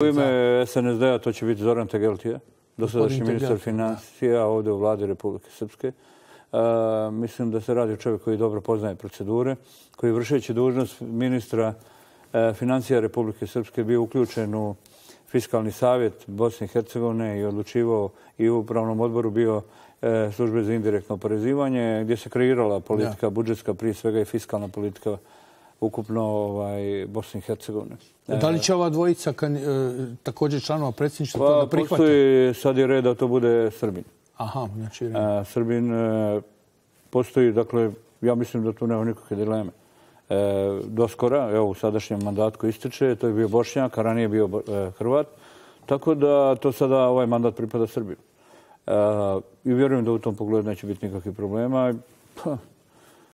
U ime SNSD-a to će biti Zoran Tegeltija, dosadašnji ministar financija ovdje u vladi Republike Srpske. Mislim da se radi o čovjeku koji dobro poznaje procedure, koji vršeći dužnost ministra financija Republike Srpske bio uključen u Fiskalni savjet Bosne i Hercegovine i odlučivao i u upravnom odboru bio službe za indirektno oporezivanje, gdje se kreirala politika budžetska, prije svega i fiskalna politika ukupno Bosne i Hercegovine. Da li će ova dvojica također članova predsjedništva to da prihvate? Postoji, sad je red da to bude Srbin. Aha, znači... Srbin postoji, dakle, ja mislim da tu nema nikakve dileme. Doskora, evo u sadašnjem mandatu koji ističe, to je bio Bošnjak, a ranije bio Hrvat. Tako da to sada ovaj mandat pripada Srbiju. I vjerujem da u tom pogledu neće biti nikakvih problema.